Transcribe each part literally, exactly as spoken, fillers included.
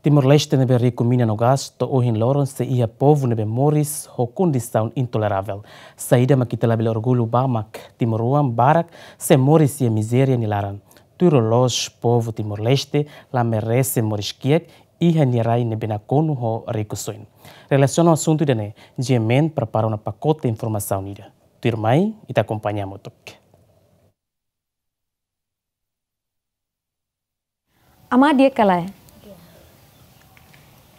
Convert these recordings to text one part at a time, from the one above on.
Timor-Leste ne'ebé riku mina no gás to'o ohin loron sei iha povu ne'ebé moris ho kondisaun intoleravel. Saida mak ita labele orgullu ba mak timoroan barak sei moris iha mizéria nia laran. Tuir loloos povu Timor-Leste la merese moris kiak iha nia rai ne'ebé nakonu ho rikusoin. Relasiona ho asuntu ida-ne'e, G M N prepara ona pakote informasaun ida. Tuirmai, ita akompaña hamutuk. Amá di'ak ka lae?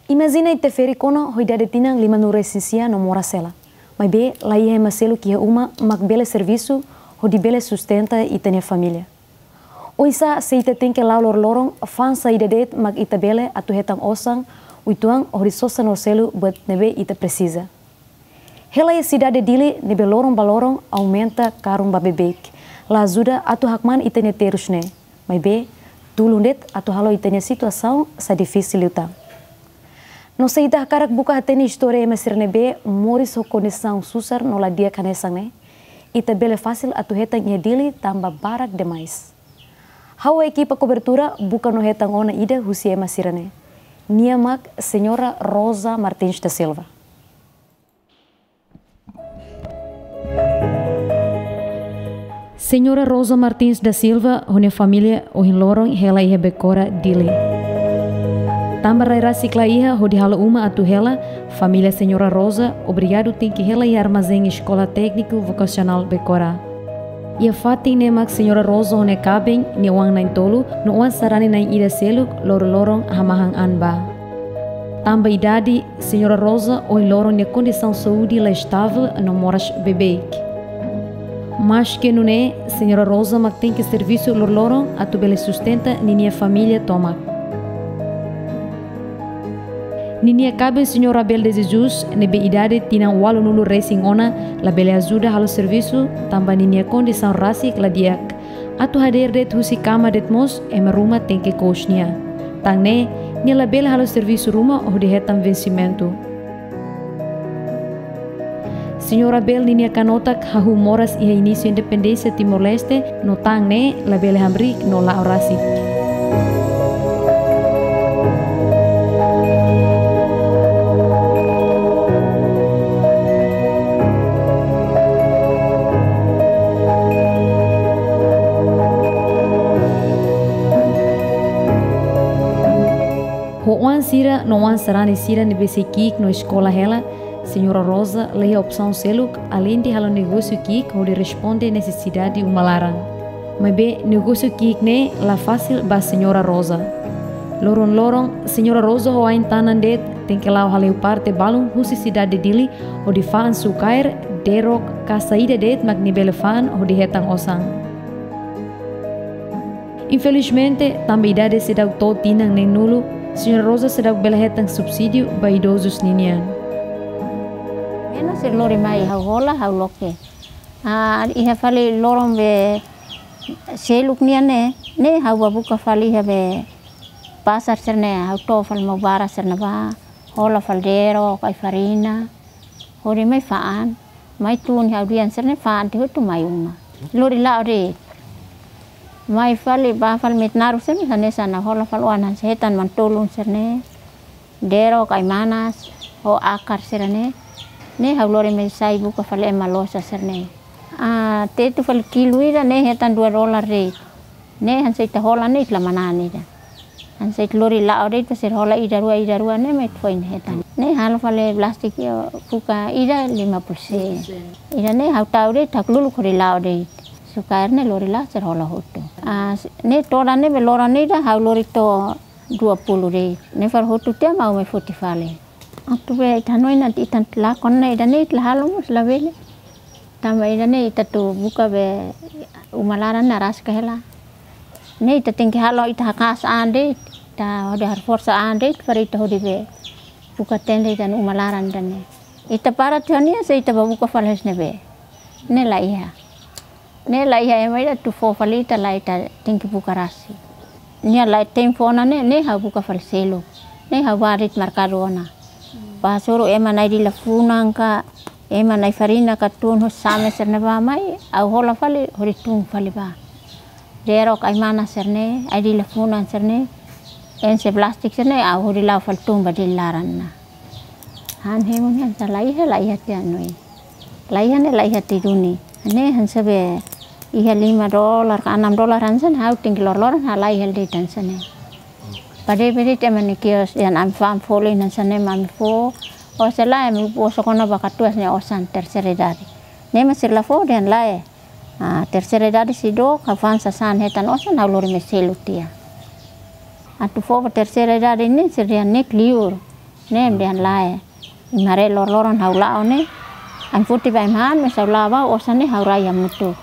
Imajina ita ferik ona ho idade tinan limanulu-resin-sia no moras hela. Maibé la iha ema seluk iha uma mak bele servisu hodi bele sustenta ita-nia família. Oinsá se ita tenke la'o loroloron, fa'an saida de'it mak ita bele atu hetan osan uitoan hodi sosa no selu buat ne'ebé ita presiza. Hela iha sidade Dili ne'ebé loron ba loron aumenta karun ba beibeik, la ajuda atu hakmaan ita-nia terus ne'e. Maibé, tulun de'it atu halo ita-nia situasaun sai difisil liután. No se ita hakarak buka hatene istória ema sira ne'ebé moris ho kondisaun susar no la di'ak hanesan ne'e, ita bele fasil atu hetan iha Dili tanba barak demais. Ha'u ekipa kobertura buka no hetan ona ida husi ema sira-ne'e. Nia mak Señora Rosa Martins da Silva. Señora Rosa Martins da Silva ho nia família ohin loron hela iha Becora, Dili. Tanba rai rasik la iha hodi halo uma atu hela, família Señora Rosa obrigadu tenke hela iha armazén Eskola Tékniku Vokasionál Becora. Iha fatin ne'e mak Señora Rosa ho nia kaben, nia oan na'in-tolu no oan sarani na'in-ida seluk loroloron hamahan an ba. Tanba idade, Señora Rosa ohin loron nia kondisaun saúde la estável no moras beibeik. Maske nune'e, Señora Rosa mak tenke servisu loroloron atu bele sustenta ninia família tomak. Ninia kaben Señor Abel de Jesus, ne'ebé idade tinan ualunulu-resin-ona, labele ajuda halo servisu, tanba ninia kondisaun rasik la di'ak. Atu hadeer de'it husi kama de'it mós, ema ruma tenke kous nia. Tan ne'e, nia labele halo servisu ruma hodi hetan vensimentu. Señor Abel ninia kanotak hahú moras iha inísiu independénsia Timor-Leste, no tan ne'e labele hamriik no la'o rasik. Ho oan sira no oan sarani sira ne'ebé sei ki'ik no eskola hela, Señora Rosa la iha opsaun seluk, aleinde halo negósiu ki'ik hodi responde nesesidade uma laran. Maibé negósiu ki'ik ne'e la fasil ba Señora Rosa. Loron-loron, Señora Rosa ho ain-tanan de'it tenke la'o hale'u parte balun husi sidade Dili hodi fa'an sukaer, derok, ka saida de'it mak nia bele fa'an hodi hetan osan. Infelizmente, tanba idade seidauk to'o tinan neen-nulu, Señora Rosa seidauk bele hetan subsídiu ba idozus ninian. Ema sira lori mai ha'u hola, ha'u loke. Ah, iha fali loron be seluk nian ne'e, ne'e ha'u bá buka fali iha be pasar sira-ne'e, ha'u to'o fali maubara sira-ne'ebá, hola fali derok, ai-farina, hodi mai fa'an, mai tun ha'u-nia an sira-ne'e fa'an tiha hotu mai uma. Lori la'o de'it. Mai fali, bá fali metinaro sira-ne'e hanesan ne'e, hola fali oan hanesan hetan manu-tolun sira-ne'e, derok, ai-manas, ho akar sira-ne'e. Ne'e ha'u lori mai sai buka fali ema loos sira-ne'e. Ah, tetu fali kilu ida ne'e hetan dua dolar de'it. Ne'e hanesan ita hola ne'e ita la manán ida. Hanesan ita lori la'o de'it, sira hola ida rua, ida rua ne'e mak ita foin hetan. Ne'e halo fali plástiku iha buka ida lima puluh sen. Ida ne'e ha'u tau de'it, ha'u luluk hodi la'o de'it. Sukaer ne'e lori la'o sira hola hotu. Ah, ne'e todan ne'e be loron ida ha'u lori to'o dua puluh de'it. Ne'e fali hotu tiha mak ha'u mai foti fali. Atu be ita hanoin ita-nia lakon ne'e ida ne'e ita la halo mós labele. Tanba ida ne'e ita atu buka be uma laran ne'e rasik hela. Ne'e ita tenke halo ita haka'as an de'it, ita hodi haforsa an de'it, para ita hodi be buka tenda ita-nia uma laran ida ne'e. Ita para tiha ona se ita bá buka fali husi ne'ebé. Ne'e la iha. Ne'e la iha ema ida atu fó fali ita, la, ita tenke buka rasik. Nia la iha tempu ona ne'e, ne'e ha'u buka fali seluk. Ne'e ha'u bá de'it merkadu ona. Bá hasoru ema na'in-dila funan ka, ema na'in-farina ka tun ho same sira-ne'e bá mai, ha'u hola fali, hodi tun fali bá. Derok, ai-manas sira-ne'e, ai-dila funan sira-ne'e. Enxe plástiku sira-ne'e, ha'u hodi la'o fali tun ba Dili laran ona. Han hemu ne'e hanesan laiha, laiha tiha ona. Laiha ne'e, laiha tiha duni. Ne'e hanesan be iha lima dolar ka enam dolar hanesan, ha'u tenke loroloron halai hela de'it hanesan ne'e. Pade pade te mani kios dehan ami fa'an folin hanesan ne'e mak ami fó. Osan lae ami fó osan kona ba katuas ne'e osan terseira idade. Ne'e mak sira la fó dehan lae. Ah, terseira idade seidauk, ha'u fa'an sasán hetan osan ha'u lori mai selu tiha. Atu fó ba terseira idade ne'e sira dehan ne'e liur. Ne'e dehan lae. Imi haree loroloron ha'u la'o ne'e. Ami foti ba imi han, maibé ha'u la'o ba osan ne'e ha'u rai hamutuk.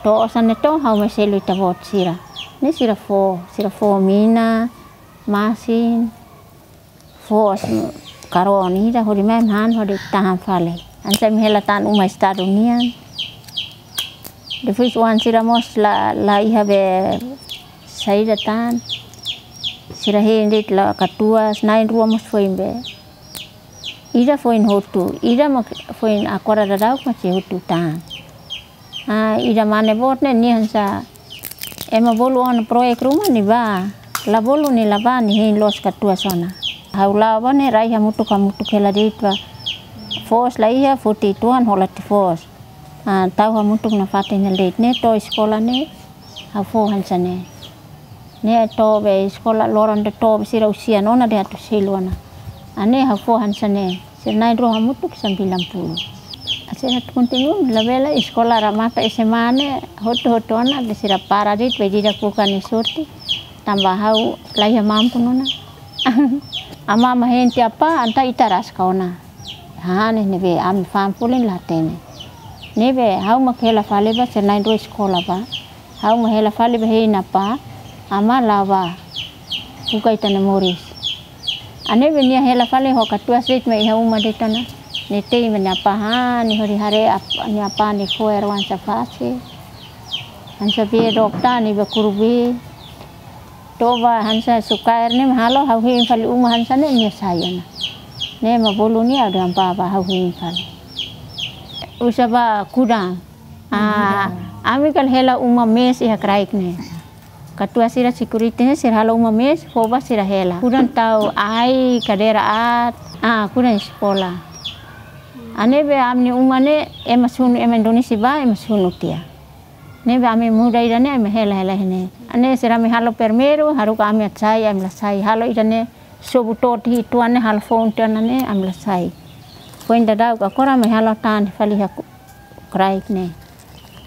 To'o osan ne'e to'o ha'u mai selu ita-boot sira. Ne'e sira fó, sira fó mina, masin, fó osan karau ida hodi mai imi han hodi tahan fali. Hanesan imi hela tan uma estadu nian. Depois oan sira mós la, laiha be saida tan. Sira hein de'it la katuas, na'in-rua mós foin be. Ida foin hotu, ida mak foin agora daudauk mak sei hotu tan. Ah, ida mane boot ne'e nia hanesan ema bolu ona proyek ruma nia bá. La bolu nia la bá, nia hein loos katuas ona. Ha'u la'o ba ne'e rai hamutuk, hamutuk hela de'it ba. Foos laiha, foti tuan hola tiha foos. Ah, tau hamutuk nafatin hela de'it ne'e to'o eskola ne'e. Ha'u fó hanesan ne'e. Ne'e to'o be eskola loron de'it to'o be sira husi ona dehan atu selu ona. Ah, ne'e ha'u fó hanesan ne'e. Sira na'in-rua hamutuk sambilan puluh. Ah, sira atu kontinua, labele eskola remata S M A ne'e hotu-hotu ona, be sira para de'it, be di'ak buka nia sorte. Tanba ha'u laiha mampu ona. Amá mak hein tiha apá, entaun ita rasik ona. Hanesan ne'ebé ami fa'an folin la hatene. Ne'ebé ha'u mak hela fali ba, sira na'in-rua eskola ba. Ha'u mak hela fali ba hein apá, amá la'o ba. Buka ita-nia moris. Ah, ne'ebé nia hela fali ho katuas de'it mai iha uma de'it ona. Nia tei mai nia apá han, nia hodi haree ap-, nia apá nia fo'er oan sira fase. Hanesan be dokta nia ba kuru be. To'o ba hanesan sukaer ne'e mak halo ha'u hein fali uma hanesan ne'e nia sai ona. Ne'e mak bolu nia ha'u dehan bá, bá ha'u hein fali. Uza ba kudan. Ah, ami kala hela uma mes iha kraik ne'e. Katuas sira security ne'e sira halo uma mes, fó ba sira hela. Kudan tau ai, kadeira aat, ah, kudan eskola. Ah, ne'ebé ami-nia uma ne'e, ema sunu, ema Indonézia bá, ema sunu tiha. Ne'ebé ami muda ida-ne'e, ami hela, hela iha ne'e. Ah, ne'e sira ami halo primeiru, haruka ami atu sai, ami la sai. Halo ida-ne'e, sobu to'o tiha uitoan ne'e, halo foun tiha ona ne'e, ami la sai. Foin daudauk agora ami halo tan fali iha ku-, kraik ne'e.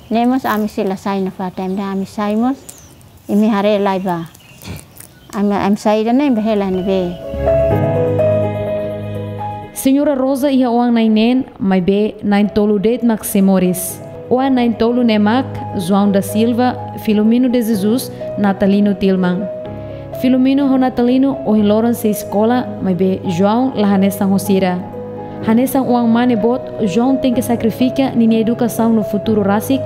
Ne'e mós ami sei la sai nafatin, ami sai mós, imi haree lai ba. Ami, ami sai ida-ne'e, imi hela ne'ebé. Señora Rosa iha oan na'in neen, maibé na'in-tolu de'it mak sei moris. Oan na'in-tolu ne'e mak João da Silva, Filomeno de Jesus, Natalino Tilman. Filomeno ho Natalino ohin loron sei eskola, maibé João la hanesan ho sira. Hanesan oan mane boot, João tenke sakrifika ninia edukasaun no futuru rasik,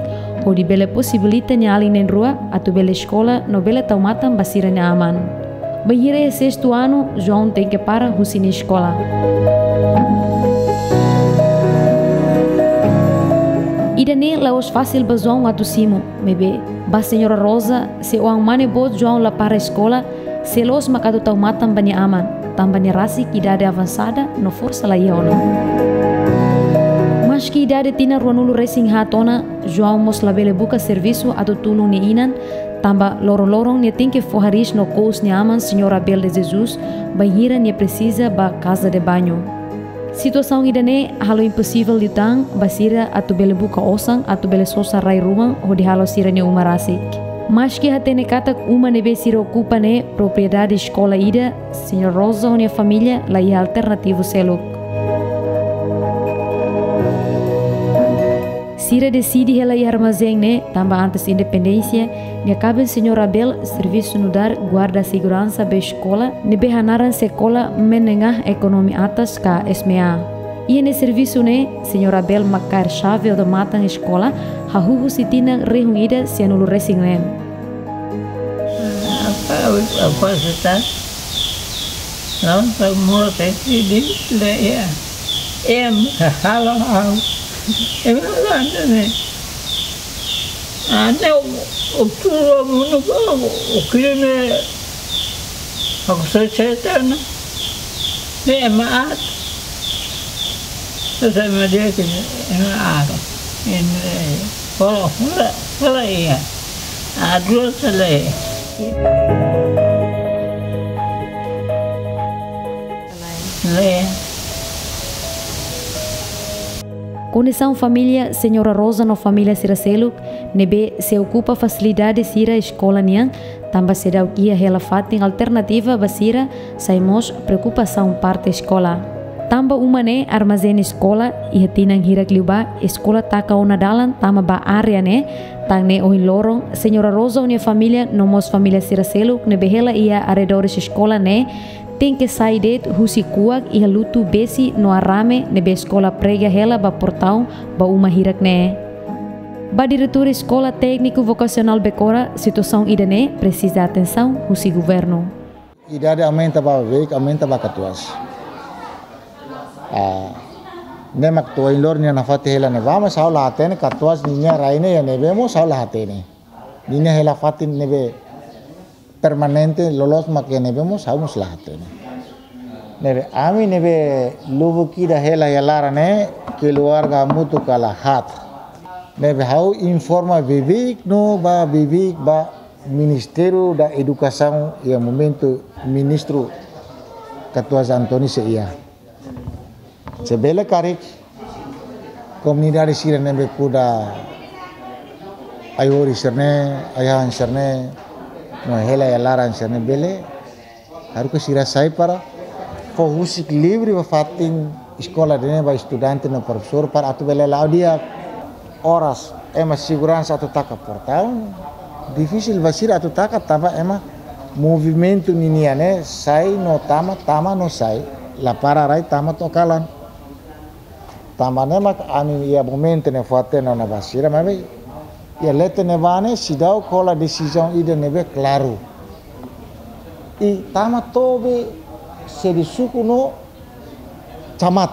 hodi bele posibilita nia alin na'in-rua atu bele eskola no bele tau matan ba sira-nia aman. Bainhira iha sestu anu, João tenke para husi nia eskola. Ida-ne'e la'ós fasil ba João atu simu, maibé ba Señora Rosa, se oan mane boot João la para eskola, sei loos mak atu tau matan ba nia aman, tanba nia rasik idade avansada no forsa laiha ona. Maski idade tinan ruanulu-resin-haat ona, João mós labele buka servisu atu tulun nia inan, tanba loron-loron nia tenke fó hariis no kous nia aman Señora Abel de Jesus, bainhira nia presiza ba casa de banho. Situasaun ida-ne'e halo imposivel liután ba sira atu bele buka osan atu bele sosa rai-ruma hodi halo sira-nia uma rasik. Maski hatene katak uma ne'ebé sira okupa ne'e propriedade eskola ida, Señora Rosa ho nia família laiha alternativu seluk. Sira deside hela iha armazén ne'e, tanba antes independénsia, nia kaben Señora Abel servisu nu'udar guarda seguransa ba eskola ne'ebé hanaran Sekolah Menengah Ekonomi Atas ka S M E A. Iha nia servisu ne'e, Señora Abel mak kaer xave odamatan eskola, hahú husi tinan rihun ida sianulu-resin-neen. Apa, apa seta? Lawan semua tesi di le ya. Em, halo hau. Em, anda ne. Anda o, o puro mundo o, o crime. Aku sosete ona. Be ema aat. Sosete ema di'ak, ema aat. Ene, hola, hola, hola iha. Aat loos sele. Sele. Kondisaun família Señora Rosa no família sira seluk ne'ebé sei okupa fasilidade sira eskola nian, tanba seidauk iha hela fatin alternativa ba sira, sai mós preokupasaun parte eskola. Tanba uma ne'e armazén eskola, iha tinan hirak liubá eskola taka ona dalan tama ba área ne'e, tan ne'e ohin loron Señora Rosa ho nia família no mós família sira seluk ne'ebé hela iha arredores eskola ne'e tenke sai de'it husi kuak iha lutu besi no arame ne'ebé eskola prega hela ba portaun ba uma hirak ne'e. Ba diretór Eskola Tékniku Vokasionál Becora, situasaun ida-ne'e presiza atensaun husi governu. Idade aumenta ba beibeik, aumenta ba katuas. Ah, ne'e mak to'o ohin loron nia nafatin hela ne'ebá, mas ha'u la hatene katuas ninia rai ne'e iha ne'ebé mós ha'u la hatene. Ninia hela fatin ne'ebé permanente loloos mak iha ne'ebé mós ha'u mós la hatene. Ne'ebé ami ne'ebé lubuk ida hela iha laran ne'e keluarga hamutuk kala haat. Ne'ebé ha'u informa beibeik no ba beibeik ba Ministériu da Edukasaun iha momentu ministru katuas António sei iha. Se bele karik komunidade sira ne'ebé kuda ai-horis sira-ne'e, ai-han sira-ne'e, no hela iha laran sira-ne'e bele, haruka sira sai para fó husik livre ba fatin eskola ida-ne'e ba estudante no profesór para atu bele la'o di'ak. Oras ema seguransa atu taka portaun, difisil ba sira atu taka tanba ema movimentu ninian ne'e sai no tama, tama no sai, la para rai tama to'o kalan. Tanba ne'e mak ami iha momentu ne'e fó hatene ona ba sira, maibé iha leten ne'ebá ne'e seidauk hola desizaun ida ne'ebé klaru. I tama to'o be sede suku no camat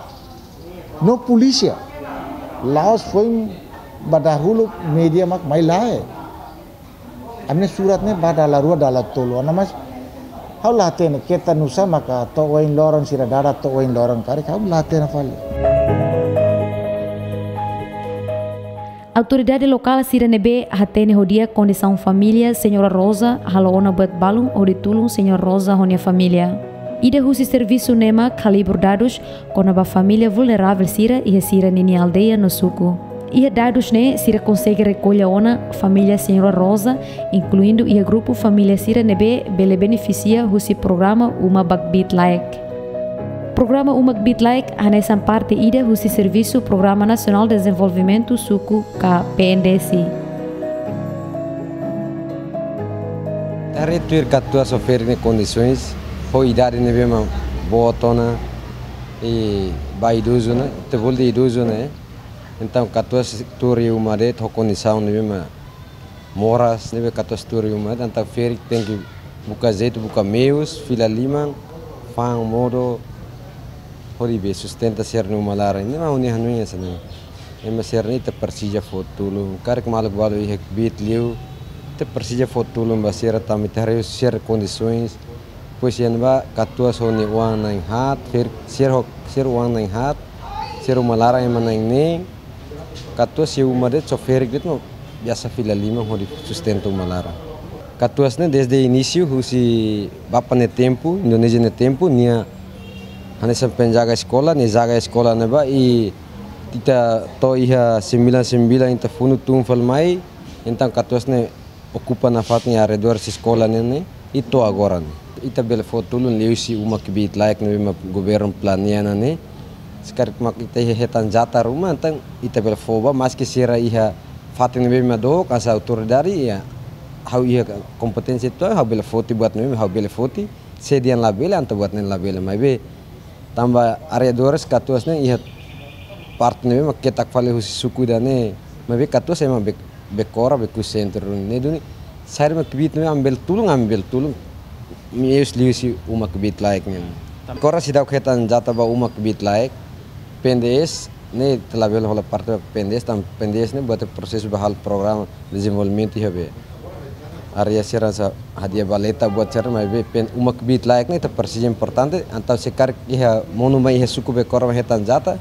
no polísia. La'ós foin ba dahuluk média mak mai lae. Ami-nia surat ne'e ba dala rua dala tolu ona, mas ha'u la hatene keta nusá maka to'o ohin loron sira dada to'o ohin loron karik, ha'u la hatene fali. Autoridade lokál sira ne'ebé hatene ho di'ak kondisaun família Señora Rosa halo ona buat balun hodi tulun Señora Rosa ho nia família. Ida husi servisu ne'e mak halibur dadus kona-ba família vulneravel sira iha sira-ninia aldeia no suku. Iha dadus ne'e sira konsege rekolla ona família Señora Rosa, inkluindu iha grupu família sira ne'ebé bele benefisia husi programa Uma ba Kbiit-Laek. Programa Uma Kbiit-Laek hanesan parte ida husi servisu Programa Nasionál Dezenvolvimentu Suku ka P N D S. Haree tuir katuas sofre ne'e kondisoens, ho idade ne'ebé mak boot ona, i ba idozu ona, ita bolu de'it idozu ona, eh. Entaun katuas tuur iha uma de'it ho kondisaun ne'ebé mak moras, ne'ebé katuas tuur iha uma de'it, entaun ferik tenke buka jeitu, buka meius, fila liman, fa'an modo, hodi be sustenta sira-nia uma laran. Ne'e mak ha'u-nia hanoin hanesan ne'e. Ema sira-ne'e ita presiza fó tulun. Karik maluk balu iha kbiit liu, ita presiza fó tulun ba sira tanba ita haree sira-nia kondisoens. Depois iha ne'ebá katuas ho nia oan na'in haat, ferik sira ho, sira oan na'in haat, sira uma laran ema na'in neen. Katuas iha uma de'it só ferik de'it mak biasa fila liman hodi sustenta uma laran. Katuas ne'e desde inísiu husi bapa nia tempu, Indonézia nia tempu, nia hanesan penjaga eskola, nia jaga eskola ne'ebá i ita to'o iha sembilan sembilan ita funu tun fali mai, entaun katuas ne'e okupa nafatin arredores eskola ne'e, ne'e, i to'o agora ne'e. Ita bele fó tulun liuhusi uma kbiit-laek ne'ebé mak governu planeia ona ne'e. Se karik mak ita iha hetan jatah ruma, entaun ita bele fó ba, maski sira iha fatin ne'ebé mak dook, hanesan autoridade, iha, ha'u iha kompeténsia uitoan, ha'u bele foti buat ne'ebé ha'u bele foti, se dehan labele, entaun buat ne'e labele, maibé tanba arredores katuas ne'e iha parte ne'ebé mak ketak fali husi suku ida-ne'e, maibé katuas ema Be-, Bekora, Beku sentru ne'e duni. Saida mak kbiit ne'ebé ami bele tulun, ami bele tulun. Meius liuhusi uma kbiit-laek ne'e. Bekora seidauk hetan jatah ba uma kbiit-laek. P N D S ne'e ita labele hola parte ba P N D S, tanba P N D S ne'e buat prosesu ba halo programa dezenvolvimentu iha be. Área sira sa hadi'a baleta buat sira, maibé pen uma kbiit-laek ne'e ita presiza importante, entaun se karik iha monu mai iha suku Bekora mai hetan jata,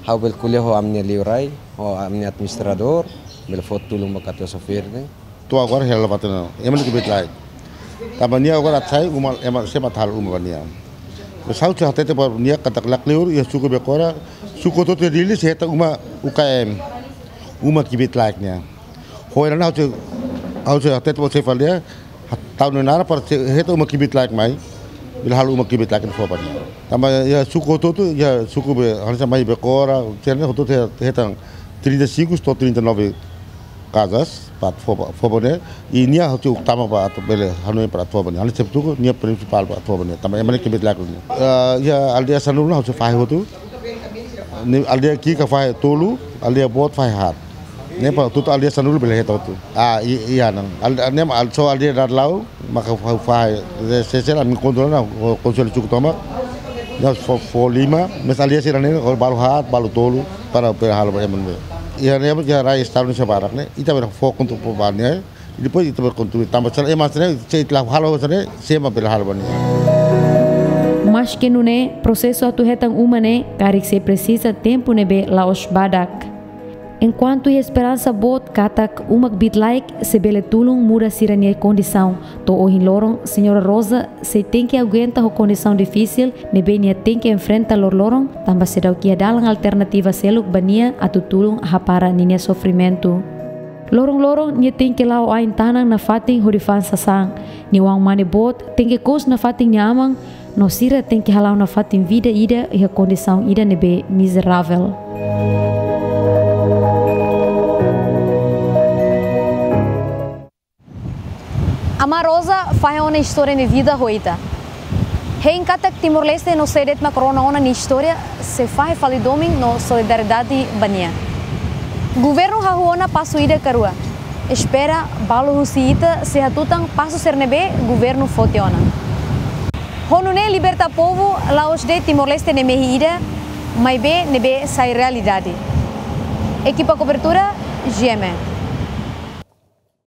ha'u bele ko'alia ho ami-nia liurai, ho ami-nia administradór, bele fó tulun ba katuas sofrer ne'e. To'o agora hela batena, ema ne'e kbiit-laek. Tanba nia agora atsai uma, ema sé mak atu halo uma ba nia. Ha'u sei hatete ba nia katak lakleur iha suku Bekora, suku hotu-hotu iha Dili sei hetan uma U K M, uma kbiit-laek nian. Ho ida-ne'e ha'u sei, ha'u sei hatete ba xefe aldeia, tau nia naran para sei hetan uma kbiit-laek mai, bele halo uma kbiit-laek ne'e fó ba nia. Tanba iha suku hotu-hotu, iha suku be, hanesan mai Bekora, sira-ne'e hotu-hotu he-, hetan trinta e cinco to'o trinta e nove casas, para atu fó ba, fó ba ne'e, i nia hotu tama ba atu bele hanoin para atu fó ba ne'e. Hanesan tuku, nia prinsipál para atu fó ba ne'e. Tanba ema ne'e kbiit-laek ne'e. Ah, iha aldeia sanulu ne'e ha'u sei fahe hotu. Ne'e aldeia ki'ik fahe tolu, aldeia boot fahe haat. Ne'e para hotu-hotu aldeia sanulu bele hetan hotu. Ah, i-, iha ne'e. Al-, ne'e mak al-, só aldeia Dadalau, maka fa-, fa-, se-, se-, sira ami kontrola ona, ho konsellu suku tomak. Ne'e fó, fó lima, mais aldeia sira-ne'e, ho balu haat, balu tolu, para bele halo ba ema ne'ebé. Iha ne'e, iha rai estadu ne'e sei barak ne'e, ita bele fó kontu ba ne'e, depois ita bele kontu tanba sira ema sira-ne'e, se ita la halo sira-ne'e, sé mak bele halo ba ne'e. Maske nune'e, prosesu atu hetan uma ne'e, karik sei presiza tempu ne'ebé la'ós badak. Enkuantu iha esperansa boot katak uma kbiit-laek sei bele tulun muda sira-nia kondisaun, to'o ohin loron, Señora Rosa sei tenke aguenta ho kondisaun difisil ne'ebé nia tenke enfrenta loroloron, tanba seidauk iha dalan alternativa seluk ba nia atu tulun hapara ninia sofrimentu. Loron-loron nia tenke la'o ain-tanan nafatin hodi fa'an sasán, nia oan mane boot tenke kous nafatin nia aman, no sira tenke hala'o nafatin vida ida iha kondisaun ida ne'ebé mizeravel. Amá Rosa fahe ona istória nia vida ho ita. Hein katak Timor-Leste no sé de'it mak rona ona nia istória, sei fahe fali domin no solidariedade ba nia. Governu hahú ona pasu ida ka rua. Espera balu husi ita sei hatutan pasu sira ne'ebé governu foti ona. Ho nune'e liberta povu la'ós de'it Timor-Leste nia mehi ida, maibé ne'ebé sai realidade. Ekipa kobertura, G M N.